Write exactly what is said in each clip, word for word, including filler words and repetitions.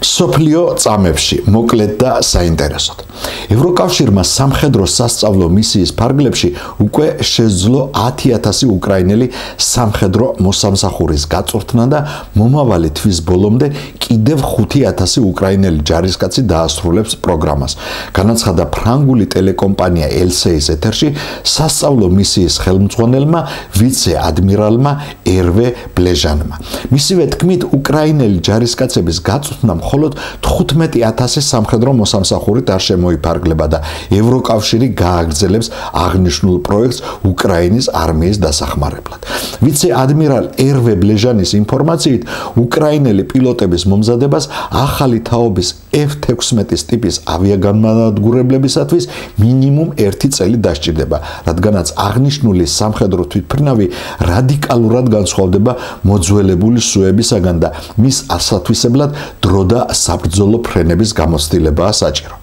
სოფლიო წამებში მოკლედ და საინტერესოდ. ევროკავშირმა სამხედრო სასწავლო მისიის ფარგლებში უკვე შეძლო ათი ათასი უკრაინელი სამხედრო მოსამსახურის გაწვრთნა და მომავალი თვის ბოლომდე კიდევ ხუთი ათასი უკრაინელი ჯარისკაცი დაასრულებს პროგრამას. განაცხადა ფრანგული ტელეკომპანია ელსეის ეთერში სასწავლო მისიის ხელმძღვანელმა ვიცე-ადმირალმა ერვე ბლეჟანმა. მისივე თქმით, უკრაინელი ჯარისკაცების გაწვრთნა მხოლოდ თხუთმეტი ათასი სამხედრო მოსამსახურით არ შემოიფარგლება და ევროკავშირი გააგრძელებს აღნიშნულ პროექტს უკრაინის არმიის დასახმარებლად. ვიცე-ადმირალ ერვე ბლეჟანის ინფორმაციით, უკრაინელი პილოტების მომზადებას ახალი თაობის ეფ თექვსმეტის ტიპის ავიაგანმანადგურებლებისათვის მინიმუმ ერთი წელი დასჭირდება, რადგანაც აღნიშნული სამხედრო თვითმფრინავი რადიკალურად განსხვავდება მოძველებული სუებისაგან და მის ასათვისებლად დრო და საბრძოლო ფრენების გამოცდილებაა საჭირო.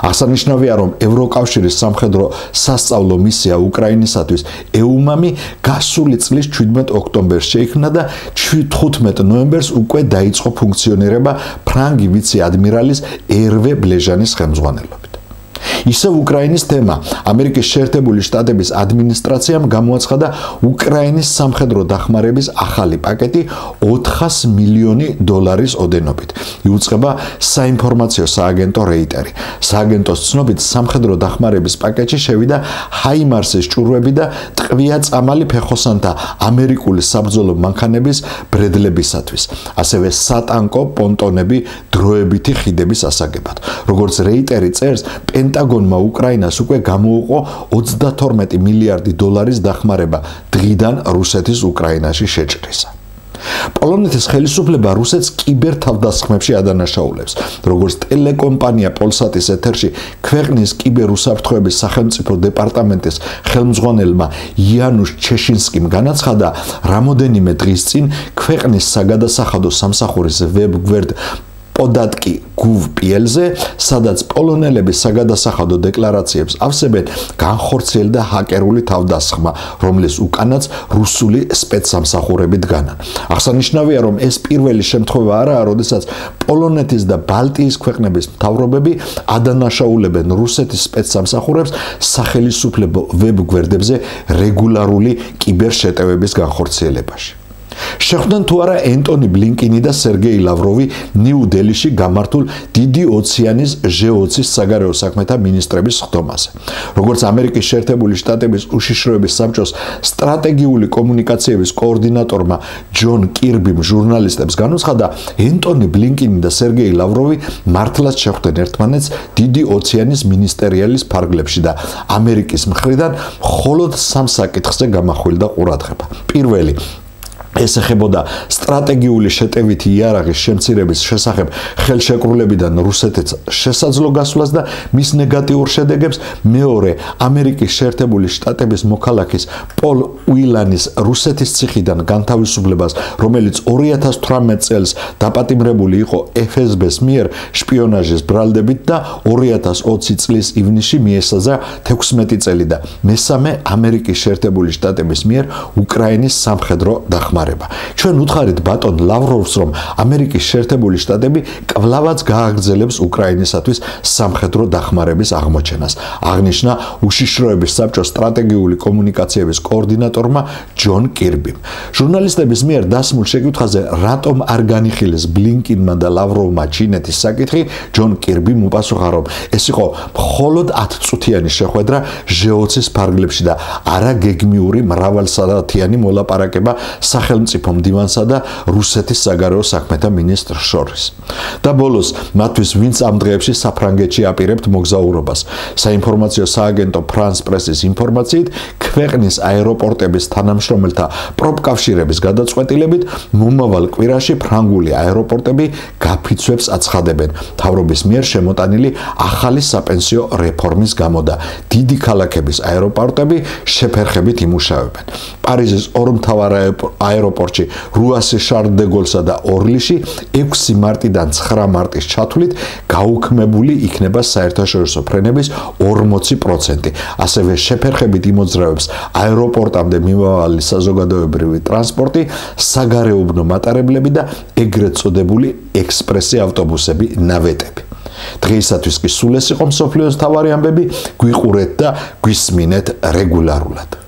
აღსანიშნავია, რომ ევროკავშირის სამხედრო სასწავლო მისია უკრაინისათვის ეუმამი გასული წლის ჩვიდმეტ ოქტომბერს შეიქმნა და თხუთმეტ ნოემბერს უკვე დაიწყო ფუნქციონირება ფრანგი ვიცე-ადმირალის ერვე ბლეჟანის ხელმძღვანელობით. ისევ უკრაინის თემა ამერიკის შეერთებული შტატების ადმინისტრაციამ გამოაცხადა უკრაინის სამხედრო დახმარების ახალი პაკეტი ოთხას მილიონი დოლარის ოდენობით. იუწყება საინფორმაციო სააგენტო რეიტერი. სააგენტოს ცნობით, სამხედრო დახმარების პაკეტში შევიდა ჰაიმარსის ჭურვები და ტყვია-წამალი ფეხოსანთა ამერიკული საბრძოლო მანქანების ბრედლებისათვის, ასევე სატანკო პონტონები დროებითი ხიდების ასაგებად. როგორც რეიტერი წერს, პენტაგონმა უკრაინას უკვე გამოუყო ოცდათორმეტი მილიარდი დოლარის დახმარება დღიდან რუსეთის უკრაინაში შეჭრისა. პოლონეთის ხელისუფლება რუსეთს კიბერ თავდასხმებში ადანაშაულებს. როგორც ტელეკომპანია პოლსატის ეთერში ქვეყნის კიბერ უსაფრთხოების სახელმწიფო დეპარტამენტის ხელმძღვანელმა იანუშ ჩეშინსკიმ განაცხადა, რამოდენიმე დღის წინ ქვეყნის საგადასახადო სამსახურის ვებ-გვერდ პოდატკი გუვ პი-ელზე, სადაც პოლონელების საგადასახადო დეკლარაციებს ავსებენ, განხორციელდა ჰაკერული თავდასხმა, რომლის უკანაც რუსული სპეცსამსახურები დგანან. აღსანიშნავია, რომ ეს პირველი შემთხვევა არაა, როდესაც პოლონეთის და ბალტიის ქვეყნების მთავრობები ადანაშაულებენ რუსეთის სპეცსამსახურებს სახელისუფლებო ვებ-გვერდებზე რეგულარული კიბერშეტევების განხორციელებაში. შეხვდნენ თუ არა ენტონი ბლინკინი და სერგეი ლავროვი ნიუ-დელიში გამართულ დიდი ოციანის ჟე ოცის საგარეო საქმეთა მინისტრების ხდომაზე. როგორც ამერიკის შეერთებული შტატების უშიშროების საბჭოს სტრატეგიული კომუნიკაციების კოორდინატორმა ჯონ კირბიმ ჟურნალისტებს განუცხადა, ენტონი ბლინკინი და სერგეი ლავროვი მართლაც შეხვდნენ ერთმანეთს დიდი ოციანის მინისტერიალის ფარგლებში და ამერიკის მხრიდან მხოლოდ სამ საკითხზე გამახვილდა ყურადღება. პირველი, ეს ეხებოდა სტრატეგიული შეტევითი იარაღის შემცირების შესახებ ხელშეკრულებიდან რუსეთს შესაძლო გასვლას და მის ნეგატიურ შედეგებს. მეორე, ამერიკის შეერთებული შტატების მოქალაქის პოლ უილანის რუსეთის ციხიდან განთავისუფლებას, რომელიც ორი ათას თვრამეტ წელს დაპატიმრებული იყო ეფ ეს ბეს მიერ შპიონაჟის ბრალდებით და ორი ათას ოცი წლის ივნისში მიესაზღვრა თექვსმეტი წელი და მესამე, ამერიკის შეერთებული შტატების მიერ უკრაინის სამხედრო დახმარება. ჩვენ უთხარით ბატონ ლავროვს, რომ ამერიკის შეერთებული შტატები კვლავაც გააგრძელებს უკრაინისათვის სამხედრო დახმარების აღმოჩენას, აღნიშნა უშიშროების საბჭოს სტრატეგიული კომუნიკაციების კოორდინატორმა ჯონ კირბიმ. ჟურნალისტების მიერ დასმულ შეკითხვაზე, რატომ არ განიხილეს ბლინკინმა და ლავროვმა ჩინეთის საკითხი, ჯონ კირბიმ უპასუხა, რომ ეს იყო მხოლოდ ათწუთიანი შეხვედრა ჟე ოცის ფარგლებში და არა გეგმიური მრავალსაათიანი მოლაპარაკება სახელმწიფო მდივანსა და რუსეთის საგარეო საქმეთა მინისტრს შორის. და ბოლოს, მათთვის ვინც ამ დღეებში საფრანგეთში აპირებთ მოგზაურობას. საინფორმაციო სააგენტო ფრანს პრესის ინფორმაციით, ქვეყნის აეროპორტების თანამშრომელთა პროფკავშირების გადაწყვეტილებით, მომავალ კვირაში ფრანგული აეროპორტები გაფიცვებს აცხადებენ მთავრობის მიერ შემოტანილი ახალი საპენსიო რეფორმის გამო და დიდი ქალაქების აეროპორტები შეფერხებით იმუშავებენ. პარიზის ორმთავარ აეროპორტებში აეროპორტში რუასი შარლ დე გოლსა და ორლიში ექვსი მარტიდან ცხრა მარტის ჩათვლით გაუქმებული იქნება საერთაშორისო ფრენების ორმოცი პროცენტი. ასევე შეფერხებით იმოძრავებს აეროპორტამდე მიმავალი საზოგადოებრივი ტრანსპორტი, საგარეუბნო მატარებლები და ეგრეთ წოდებული ექსპრესი ავტობუსები, ნავეტები. დღეისათვის კი სულ ეს იყო მსოფლიოს მთავარი ამბები, გვიყურეთ და გვისმინეთ რეგულარულად.